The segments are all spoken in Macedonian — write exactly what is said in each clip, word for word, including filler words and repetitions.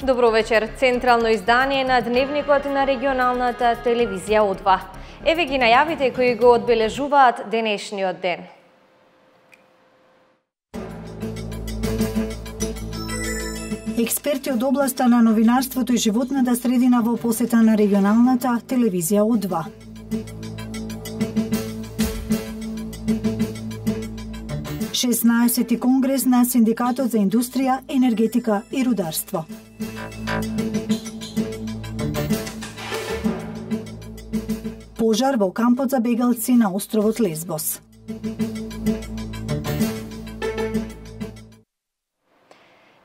Добро вечер. Централно издание на Дневникот на регионалната телевизија О два. Еве ги најавите кои го одбележуваат денешниот ден. Експерти од областа на новинарството и животната средина во посета на регионалната телевизија О два. шеснаесети конгрес на Синдикатот за индустрија, енергетика и рударство. Пожар во кампот за бегалци на островот Лесбос.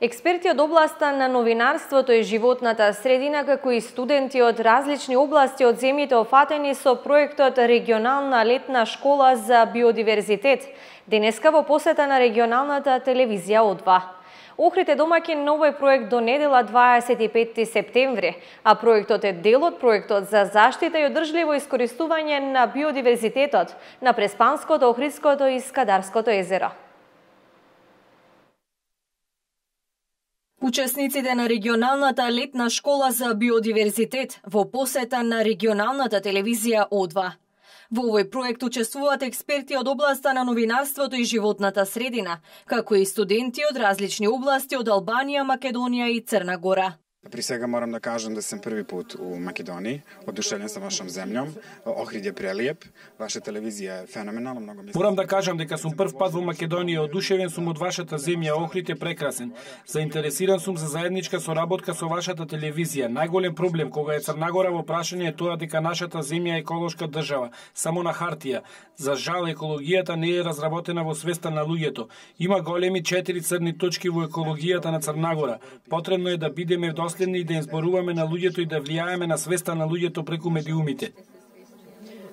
Експерти од областа на новинарството и животната средина, како и студенти од различни области од земјите офатени со проектот Регионална летна школа за биодиверзитет, денеска во посета на регионалната телевизија О два. Охрид е домаќин на овој проект до недела дваесет и петти септември, а проектот е дел од проектот за заштита и одржливо искористување на биодиверзитетот на Преспанското, Охридското и Скадарското езеро. Учесниците на регионалната летна школа за биодиверзитет во посета на регионалната телевизија О два. Во овој проект учествуваат експерти од областа на новинарството и животната средина, како и студенти од различни области од Албанија, Македонија и Црна Гора. При сега морам да кажам да сум први пат у Македонија, одушевен сум вашом земјом, Охрид е прелиеп, ваша телевизија е феноменална, многу ми. Морам да кажам дека сум прв пат во Македонија, одушевен сум од вашата земја, Охрид е прекрасен. Заинтересиран сум за заедничка соработка со вашата телевизија. Најголем проблем кога е Црна Гора во прашање е тоа дека нашата земја е еколошка држава, само на хартија. За жал екологијата не е разработена во свеста на луѓето. Има големи четири црни точки во екологијата на Црна Гора. Потребно е да бидеме следни и да им зборуваме на луѓето и да влијаеме на свеста на луѓето преку медиумите.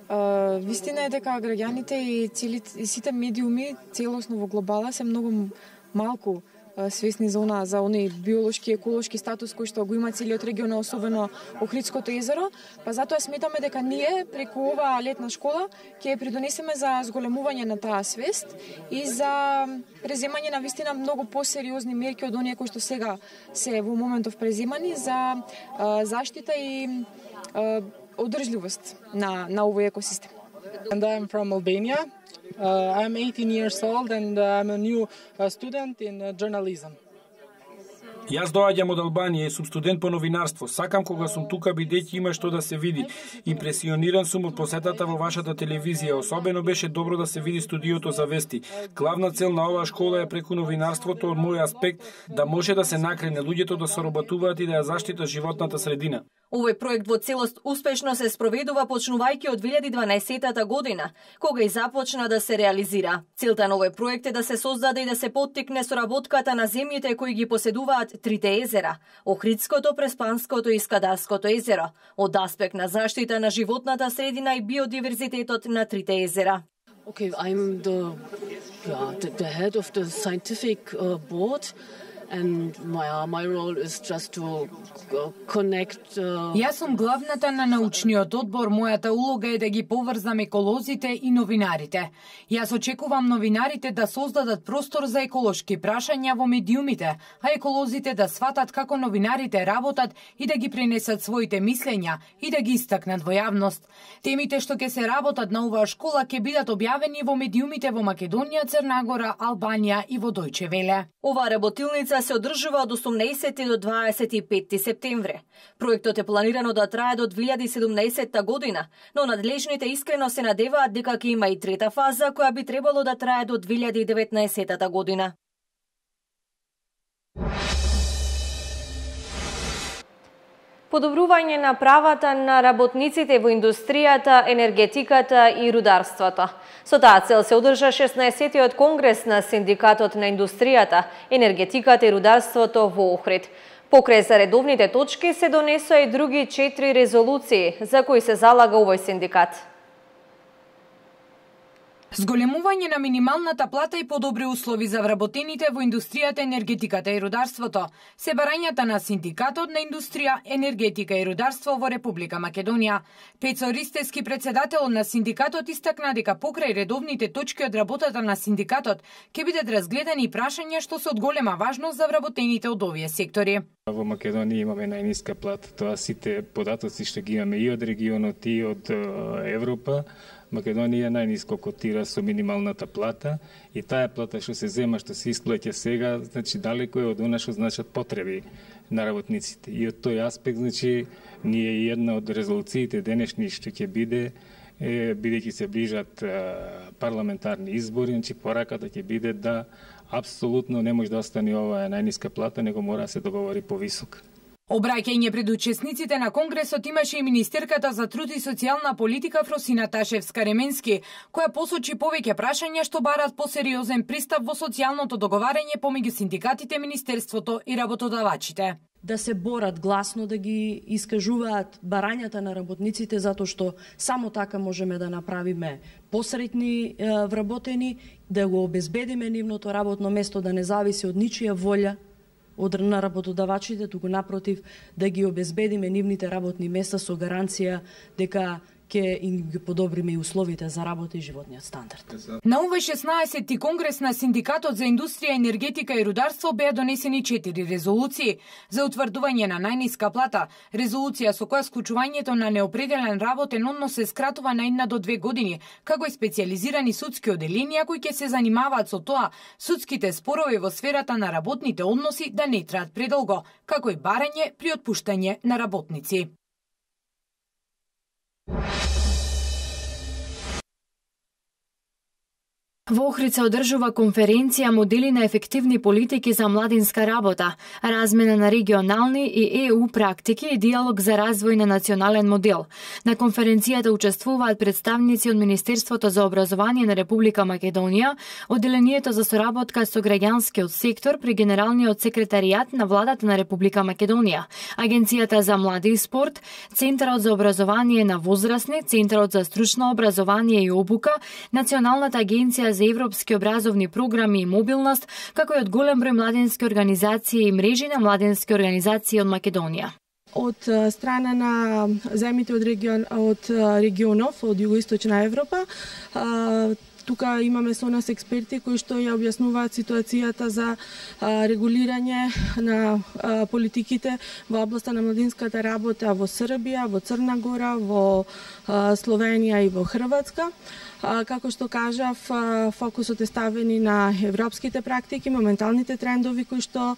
Uh, вистина е дека граѓаните и, цели, и сите медиуми целосно во глобала се многу малку uh, свесни за она, за оној биолошки, еколошки статус кој што го има целиот регион, особено Охридското езеро, па затоа сметаме дека ние преку оваа летна школа ќе придонесеме за зголемување на таа свест и за преземање на вистина многу посериозни мерки од оние кои што сега се во моментов преземани за а, заштита и а, одржливост на на овој екосистем. And I'm from Albania. Uh, I'm eighteen years old and uh, I'm a new uh, student in uh, journalism. Јас доаѓам од Албанија и сум студент по новинарство. Сакам кога сум тука бидејќи има што да се види. Импресиониран сум од посетата во вашата телевизија. Особено беше добро да се види студиото за вести. Главна цел на оваа школа е преку новинарството од мој аспект да може да се накрене луѓето да соработуваат и да ја заштитат животната средина. Овој проект во целост успешно се спроведува почнувајќи од две илјади и дванаесетта година, кога и започна да се реализира. Целта на овој проект е да се создаде и да се поттикне соработката на земјите кои ги поседуваат трите езера, Охридското, Преспанското и Скадарското езеро, од аспект на заштита на животната средина и биодиверзитетот на трите езера. Okay, I'm the, yeah, the, the head of the scientific uh, board. And my, uh, my role is just to uh, connect. Uh... Јас сум главната на научниот одбор. Мојата улога е да ги поврзам еколозите и новинарите. Јас очекувам новинарите да создадат простор за еколошки прашања во медиумите, а еколозите да сватат како новинарите работат и да ги пренесат своите мислења и да ги истакнат во јавност. Темите што ќе се работат на оваа школа ќе бидат објавени во медиумите во Македонија, Црна Гора, Албанија и во Дојче Веле. Оваа работилница се одржува од осумнаесети до дваесет и петти септември. Проектот е планирано да трае до две илјади и седумнаесетта година, но надлежните искрено се надеваат дека ќе има и трета фаза која би требало да трае до две илјади и деветнаесетта година. Подобрување на правата на работниците во индустријата, енергетиката и рударството. Со таа цел се одржа шеснаесеттиот конгрес на Синдикатот на индустријата, енергетиката и рударството во Охрид. Покрај за редовните точки се донесоа и други четири резолуции за кои се залага овој синдикат. Зголемување на минималната плата и подобри услови за вработените во индустријата, енергетиката и рударството се барањата на Синдикатот на индустрија, енергетика и рударство во Република Македонија. Пецо Ристевски, председател на Синдикатот, истакна дека покрај редовните точки од работата на Синдикатот ќе бидат разгледани прашања што се од голема важност за вработените од овие сектори. Во Македонија имаме најниска плата. Тоа сите податоци што ги имаме и од регионот и од Европа. Македонија најниско котира со минималната плата и таа плата што се зема, што се исплаќа сега, значи далеко е од она што значат потреби на работниците. И од тој аспект, значи, ние една од резолуциите денешни што ќе биде, е, бидејќи се ближат парламентарни избори, значи пораката ќе биде да апсолутно не може да остане оваа најниска плата, него мора да се договори повисока. Обраќање пред учесниците на Конгресот имаше и министерката за труд и социјална политика Фросина Ташевска-Ременски, која посочи повеќе прашања што барат посериозен пристап во социјалното договарање помеѓу синдикатите, министерството и работодавачите. Да се борат гласно, да ги искажуваат барањата на работниците, затоа што само така можеме да направиме посретни е, вработени, да го обезбедиме нивното работно место, да не зависи од ничија волја од на работодавачите, туку напротив, да ги обезбедиме нивните работни места со гаранција дека ќе им ги подобриме и условите за работа и животниот стандард. На овој шеснаесети конгрес на Синдикатот за индустрија, енергетика и рударство беа донесени четири резолуции за утврдување на најниска плата, резолуција со која склучувањето на неопределен работен однос се скратува на една до две години, како и специјализирани судски оделенија кои ќе се занимаваат со тоа судските спорови во сферата на работните односи да не траат предолго, како и барање при отпуштање на работници. Во Охрид се одржува конференција Модели на ефективни политики за младинска работа, размена на регионални и Е У практики и диалог за развој на национален модел. На конференцијата учествуваат представници од Министерството за образование на Република Македонија, Одделението за соработка со граѓанскиот сектор при Генералниот секретаријат на Владата на Република Македонија, Агенцијата за млади и спорт, Центарот за образование на возрастни, Центарот за стручно образование и обука, Националната агенција за европски образовни програми и мобилност, како и од голем број младински организации и мрежи на младински организации од Македонија. Од страна на земјите од регион од регионов од југоисточна Европа, тука имаме со нас експерти кои што ја објаснуваат ситуацијата за регулирање на политиките во областа на младинската работа во Србија, во Црна Гора, во Словенија и во Хрватска. Како што кажав, фокусот е ставени на европските практики, моменталните трендови кои што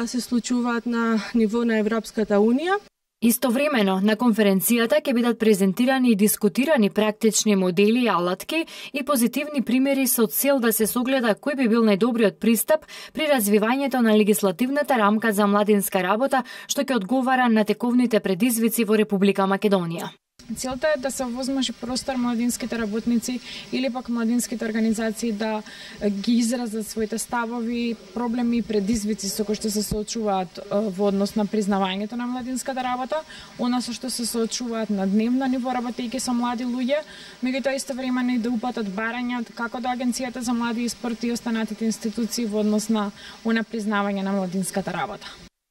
се случуваат на ниво на Европската Унија. Истовремено, на конференцијата ќе бидат презентирани и дискутирани практични модели и алатки и позитивни примери со цел да се согледа кој би бил најдобриот пристап при развивањето на легислативната рамка за младинска работа, што ќе одговара на тековните предизвици во Република Македонија. Целта е да се овозможи простор младинските работници или пак младинските организации да ги изразат своите ставови, проблеми и предизвици со кои што се соочуваат во однос на признавањето на младинската работа, она со што се соочуваат на дневно ниво работејќи со млади луѓе, меѓутоа истовремено и да упатат барања како до Агенцијата за млади и спорт и останатите институции во однос на она признавање на младинската работа.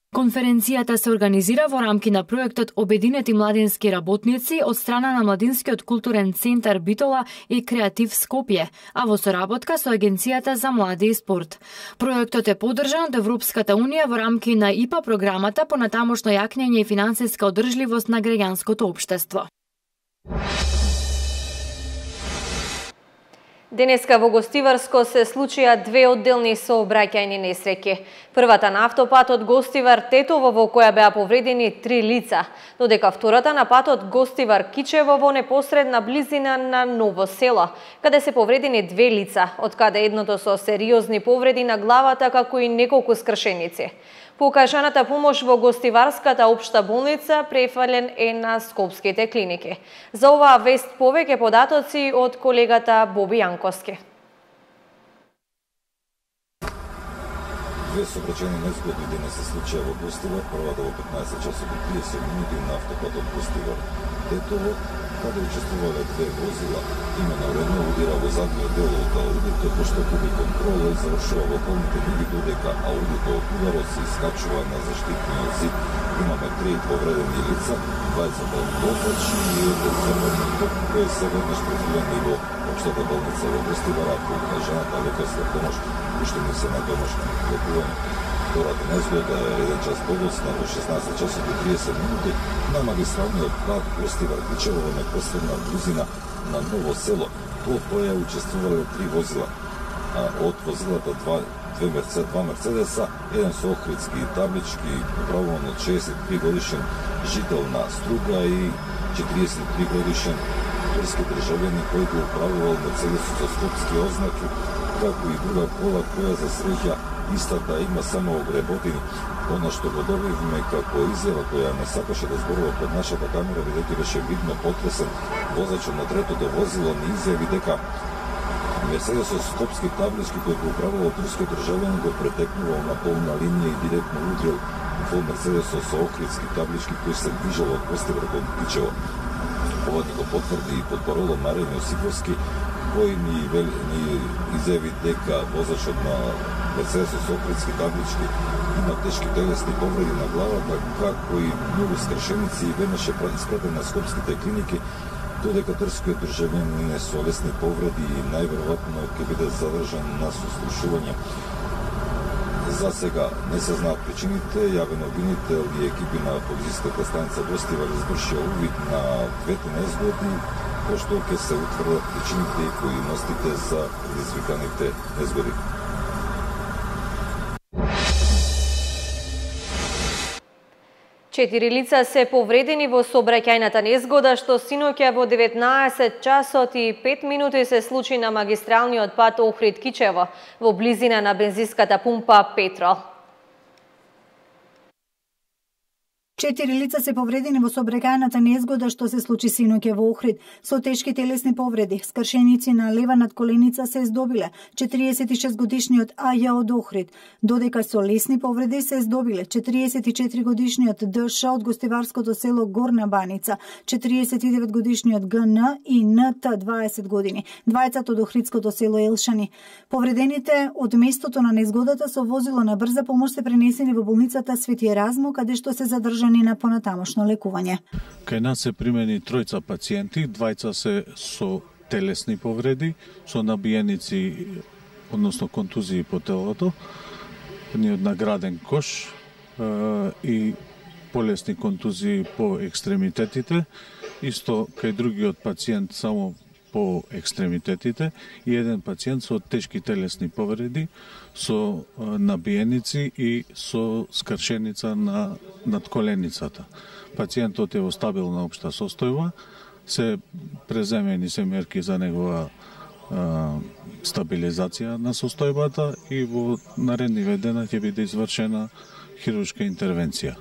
Конференцијата се организира во рамки на проектот Обединети младински работници од страна на Младинскиот културен центар Битола и Креатив Скопје, а во соработка со Агенцијата за млади и спорт. Проектот е поддржан од Европската Унија во рамки на И П А програмата по натамошно јакнење и финансиска одржливост на граѓанското општество. Денеска во Гостиварско се случија две одделни сообраќајни несреќи. Првата на автопатот Гостивар-Тетово во која беа повредени три лица, додека втората на патот Гостивар-Кичево во непосредна близина на Ново село, каде се повредени две лица, од каде едното со сериозни повреди на главата како и неколку скршеници. Покажаната помош во Гостиварската општа болница префален е на скопските клиники. За оваа вест повеќе податоци од колегата Боби Јанковски. Две сообраќајни незгоди денес се случија во Гостивар, првата во петнаесет часот и триесет минути на автопатот Гостивар-Тетово, каде учествувале две возила. Имено удира во задниот дел од аудито, пошто губи контрола и завршува во околните луѓе, додека аудито од ударот се искачува на заштитниот зид. Имаме три повредени лица, двајцата од возачи и еден црвен топ, кој се веднаш префрлени во општата болница во Гостивар, ако укажаната лекарска помош уште не се на домашно лекување. втората незгода еден час подоцна во шеснаесет часот и триесет минути на магистралниот пат Гостивар Кичево во непосредна близина на Ново село. Во која учествувале три возила. А од возилата два, две мерце, два Мерцедеса, еден со охридски таблички, управуван од шеесет и три годишен жител на Струга и четириесет и три годишен турски државјанин кој го управувал Мерцедесот со скопски ознаки, како и друга кола која за среќа истата има само огреботини. Она што го добивме како изјава која не сакаше да зборува пред нашата камера, бидејќи беше видно потресен, возачот на третото возило ни изјави дека Мерцедес со скопски таблички кој го управувал турскиот државјанин го претекнувал на полна линија и директно удрил во Мерцедесот со охридски таблички кој се движел од Гостивар кон Кичево. Ова ни го потврди и потпароло Марен Јосиповски, кој ни, ни изјави дека возачот на Мерцедесот со охридски таблички има тешки телесни повреди на главата, како и многу скршеници и веднаш е испратен на скопските клиники, додека турскиот државјанин е со лесни повреди и најверојатно ќе биде задржан на сослушување. За сега не се знаат причините. Јавен обвинител и екипи на полициската станица Гостивар извршија увид на двете незгоди, пошто ќе се утврдат причините и поиностите за предизвиканите незгоди. Четири лица се повредени во сообраќајната незгода што синоќа во деветнаесет часот и пет минути се случи на магистралниот пат Охрид Кичево во близина на бензинската пумпа Петрол. Четири лица се повредени во сообраќајната незгода што се случи синоќа во Охрид со тешки телесни повреди. Скршеници на лева надколеница се здобиле четириесет и шест годишниот А Ј од Охрид, додека со лесни повреди се здобиле четириесет и четири годишниот Д Ш од гостиварското село Горна Баница, четириесет и девет годишниот Г Н и Н Т дваесет години, двајцата од Охридското село Елшани. Повредените од местото на незгодата со возило на брза помош се пренесени во болницата Свети Еразмо, каде што се задржани на понатамошно лекување. Кај нас се примени тројца пациенти, двајца се со телесни повреди, со набиеници, односно контузии по телото, едниот награден кош е, и полесни контузии по екстремитетите, исто кај другиот пациент само по екстремитетите и еден пациент со тешки телесни повреди, со набиеници и со скршеница на надколеницата. Пациентот е во стабилна општа состојба, се преземени се мерки за негова а, стабилизација на состојбата и во наредниве дена ќе биде извршена хируршка интервенција.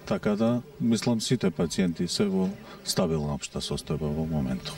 Така да, мислам, сите пациенти се во стабилна општа состојба во моментов.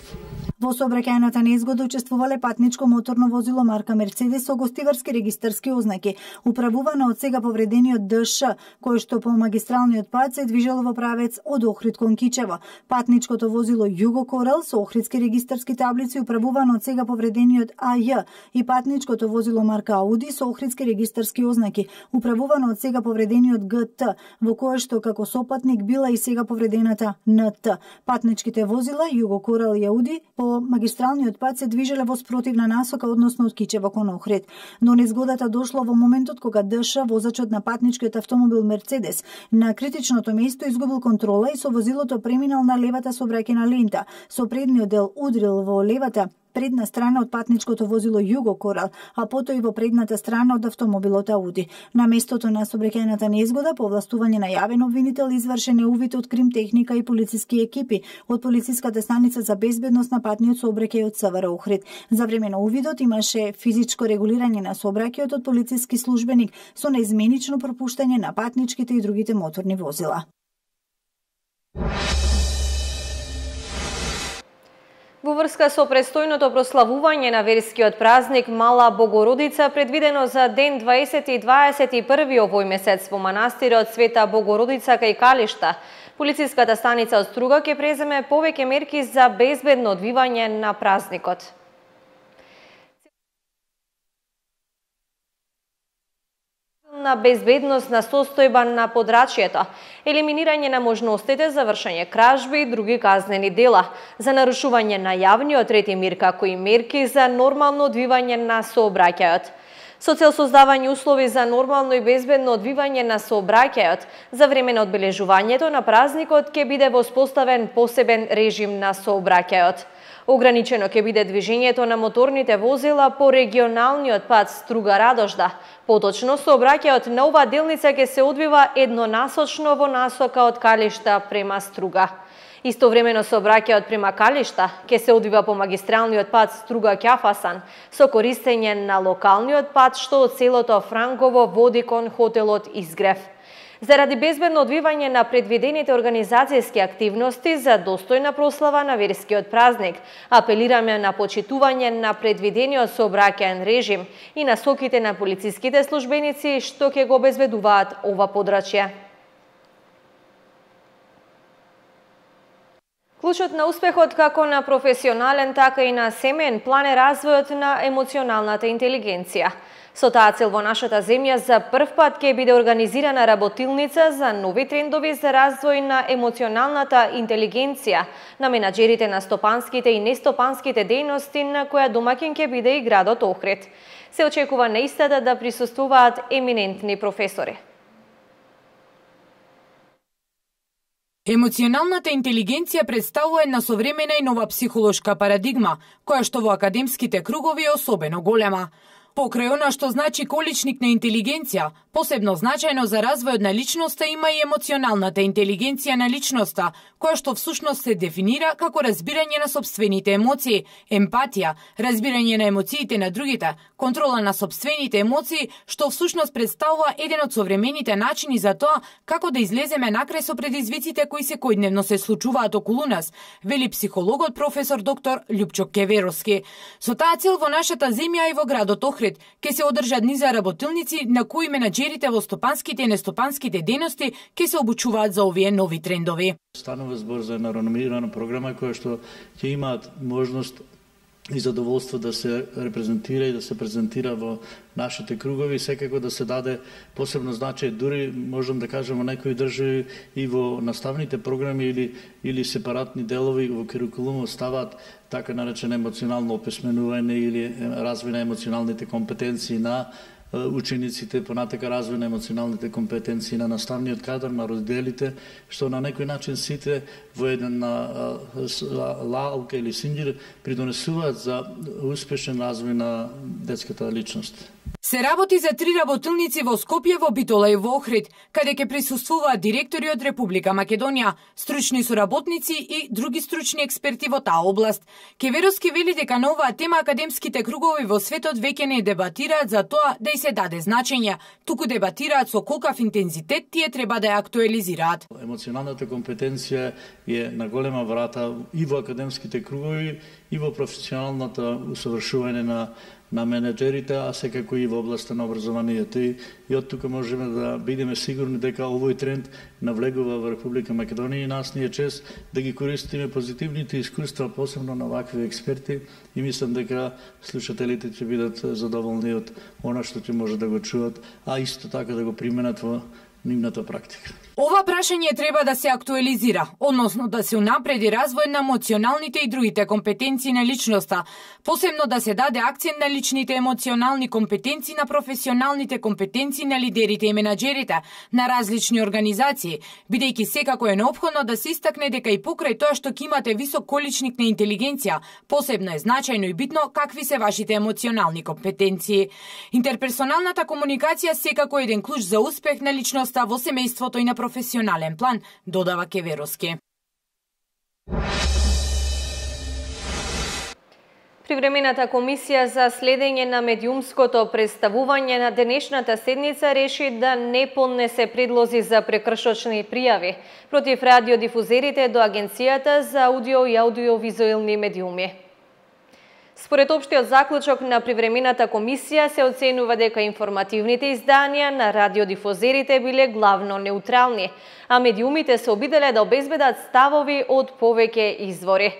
Во сообраќајната незгода учествувале патничко моторно возило марка Мерцедес со гостиварски регистарски ознаки, управувано од сега повредениот Д Ш, кој што по магистралниот пат се движело во правец од Охрид кон Кичево. Патничкото возило Југо Корал со охридски регистарски таблици, управувано од сега повредениот А Ј, и патничкото возило марка Ауди со охридски регистарски ознаки, управувано од сега повредениот Г Т, во кое што како сопатник била и сега повредената Н Т. Патничките возила Југо Корал и Ауди по магистралниот пат се движеле во спротивна насока, односно од Кичево кон Охрид. Но незгодата дошла во моментот кога Д Ш, возачот на патничкиот автомобил Мерцедес, на критичното место изгубил контрола и со возилото преминал на левата сообраќајна лента. Со предниот дел удрил во левата предна страна од патничкото возило Југо Корал, а потоа и во предната страна од автомобилот Ауди. На местото на сообраќајната незгода, по овластување на јавен обвинител, извршен е увид од кримтехника и полициски екипи од полициската станица за безбедност на патниот сообраќај од С В Р Охрид. За време на увидот имаше физичко регулирање на сообраќајот од полициски службеник со неизменично пропуштање на патничките и другите моторни возила. Во врска со престојното прославување на верскиот празник Мала Богородица, предвидено за ден дваесети и дваесет и први овој месец во манастирот Света Богородица кај Калишта, полициската станица од Струга ќе преземе повеќе мерки за безбедно одвивање на празникот. На безбедносна состојба на подрачјето, елиминирање на можностите за вршење кражби и други казнени дела, за нарушување на јавниот ред и мир, како и мерки за нормално одвивање на сообраќајот. со цел создавање услови за нормално и безбедно одвивање на сообраќајот. За време на одбележувањето на празникот ќе биде воспоставен посебен режим на сообраќајот. Ограничено ќе биде движењето на моторните возила по регионалниот пат Струга-Радожда. Поточно, сообраќајот на оваа делница ќе се одвива еднонасочно во насока од Калишта према Струга. Истовремено сообраќајот према Калишта ќе се одвива по магистралниот пат Струга-Ќафасан со користење на локалниот пат што од селото Франково води кон хотелот Изгрев. Заради безбедно одвивање на предвидените организацијски активности за достојна прослава на верскиот празник, апелираме на почитување на предвидениот сообраќаен режим и насоките на полициските службеници што ќе го обезбедуваат ова подрачје. Клучот на успехот како на професионален, така и на семеен план е развојот на емоционалната интелигенција. Со таа цел во нашата земја за прв пат ќе биде организирана работилница за нови трендови за развој на емоционалната интелигенција на менаџерите на стопанските и нестопанските дејности, на која домаќин ќе биде и градот Охрид. Се очекува на истата да присуствуваат еминентни професори. Емоционалната интелигенција представува една современа и нова психолошка парадигма, која што во академските кругови е особено голема. Покрај она што значи количник на интелигенција, посебно значајно за развојот на личноста има и емоционалната интелигенција на личноста, која што всушност се дефинира како разбирање на сопствените емоции, емпатија, разбирање на емоциите на другите, контрола на сопствените емоции, што всушност представува еден од современите начини за тоа како да излеземе накрај со предизвиците кои секојдневно се случуваат околу нас, вели психологот професор доктор Љупчо Кеверовски. Со таа цел во нашата земја и во градот Охрид ќе се одржат низа работилници на кои менаџерите во стопанските и нестопанските дејности ќе се обучуваат за овие нови трендови. Станува збор за една реномирана програма која што ќе имаат можност и задоволство да се репрезентира и да се презентира во нашите кругови, секако да се даде посебно значај, дури можам да кажам во некои држави и во наставните програми или или сепаратни делови во курикулумот ставаат така наречено емоционално описменување или развој на емоционалните компетенции на учениците, понатака развој на емоционалните компетенции на наставниот кадар, на родителите, што на некој начин сите во еден лалка или синдир придонесуваат за успешен развој на детската личност. Се работи за три работилници во Скопје, во Битола и во Охрид, каде ќе присуствуваат директори од Република Македонија, стручни соработници и други стручни експерти во таа област. Кеверовски вели дека на оваа тема академските кругови во светот веќе не дебатираат за тоа да и се даде значење, туку дебатираат со колкав интензитет тие треба да ја актуализираат. Емоционалната компетенција е на голема врата и во академските кругови и во професионалната усовршување на на менеджерите, а секако и во областа на образованието. И, и од тука можеме да бидеме сигурни дека овој тренд навлегува во Република Македонија и нас ни е чест да ги користиме позитивните искуства, посебно на вакви експерти, и мислам дека слушателите ќе бидат задоволни од она што ќе може да го чуат, а исто така да го применат во нивната практика. Ова прашање треба да се актуализира, односно да се унапреди развој на емоционалните и другите компетенции на личноста, посебно да се даде акцент на личните емоционални компетенции, на професионалните компетенции на лидерите и менаџерите на различни организации, бидејќи секако е неопходно да се истакне дека и покрај тоа што ќе имате висок количник на интелигенција, посебно е значајно и битно какви се вашите емоционални компетенции. Интерперсоналната комуникација секако е еден клуч за успех на личноста во семејството и на професионален план, додава Кеверовски. Привремената комисија за следење на медиумското представување на денешната седница реши да не поднесе предлози за прекршочни пријави против радиодифузерите до Агенцијата за аудио и аудиовизуелни медиуми. Според општиот заклучок на привремената комисија се оценува дека информативните изданија на радиодифузерите биле главно неутрални, а медиумите се обиделе да обезбедат ставови од повеќе извори.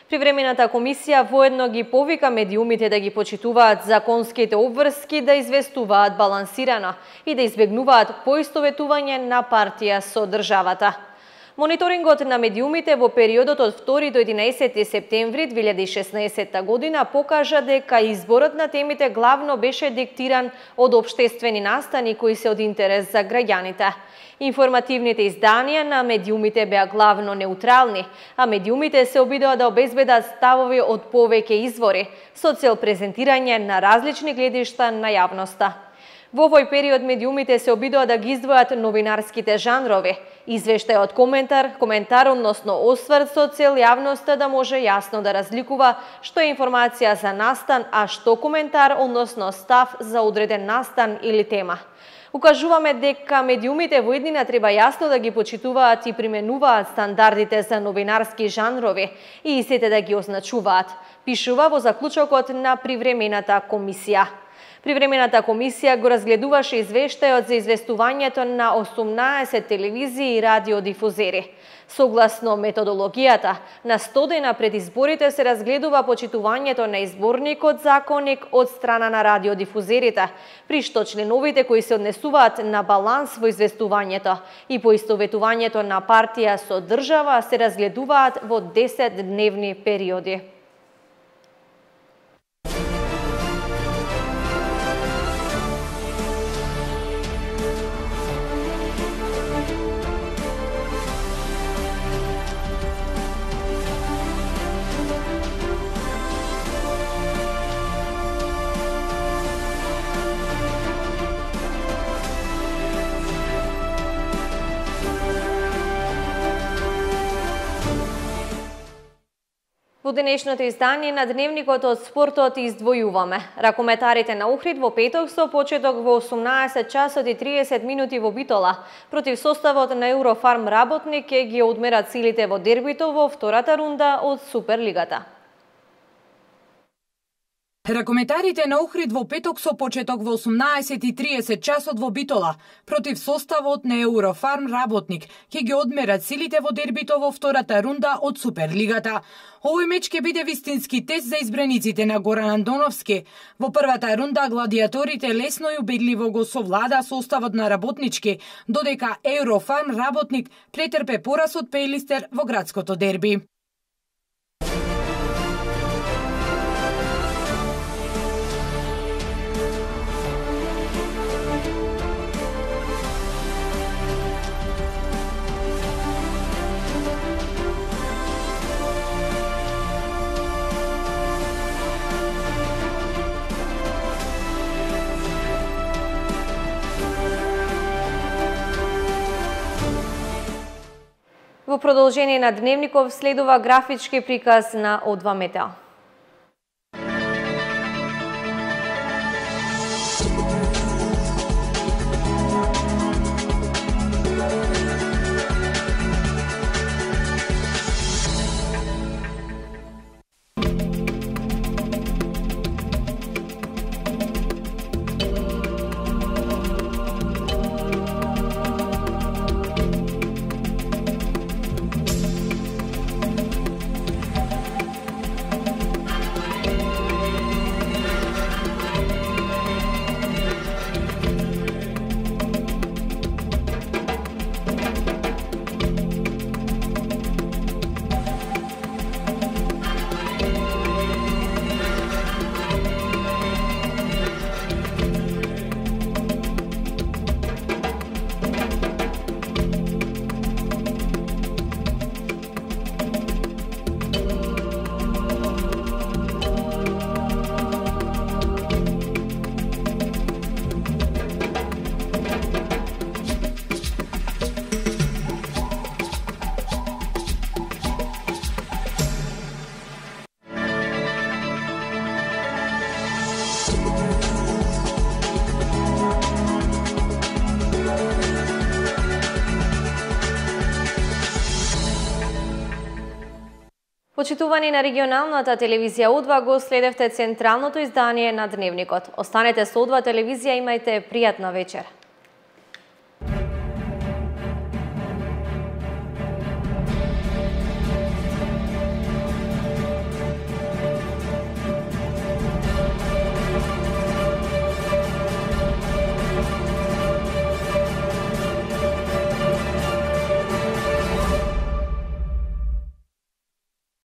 Привремената комисија воедно ги повика медиумите да ги почитуваат законските обврски, да известуваат балансирано и да избегнуваат поистоветување на партија со државата. Мониторингот на медиумите во периодот од втори до единаесети септември две илјади и шеснаесетта година покажа дека изборот на темите главно беше диктиран од општествени настани кои се од интерес за граѓаните. Информативните изданија на медиумите беа главно неутрални, а медиумите се обидоа да обезбедат ставови од повеќе извори, со цел презентирање на различни гледишта на јавноста. Во овој период медиумите се обидоа да ги издвојат новинарските жанрови, извештај од коментар, коментар односно осврт со цел јавноста да може јасно да разликува што е информација за настан, а што коментар односно став за одреден настан или тема. Укажуваме дека медиумите во иднина треба јасно да ги почитуваат и применуваат стандардите за новинарски жанрови и истите да ги означуваат, пишува во заклучокот на привремената комисија. Привремената комисија го разгледуваше извештајот за известувањето на осумнаесет телевизии и радиодифузери. Согласно методологијата, на сто дена пред изборите се разгледува почитувањето на изборникот законник од страна на радиодифузерите, при што членовите кои се однесуваат на баланс во известувањето и поистоветувањето на партија со држава се разгледуваат во десет дневни периоди. Во денешното издание на Дневникот од спортот издвојуваме. Ракометарите на Охрид во петок со почеток во осумнаесет часот и триесет минути во Битола против составот на Еврофарм Работник ќе ги одмерат силите во дербито во втората рунда од Суперлигата. Ракометарите на Охрид во петок со почеток во осумнаесет и триесет часот во Битола против составот на Еврофарм Работник ќе ги одмерат силите во дербито во втората рунда од Суперлигата. Овој меч ќе биде вистински тест за избраниците на Горан Андоновски. Во првата рунда гладиаторите лесно и убедливо го совлада составот на Работнички, додека Еврофарм Работник претрпе пораз од Пејлистер во градското дерби. Во продолжение на Дневников следува графички приказ на О два Метео. Почитувани на регионалната телевизија О два, го следевте централното издание на Дневникот. Останете со О два телевизија, имајте пријатна вечер.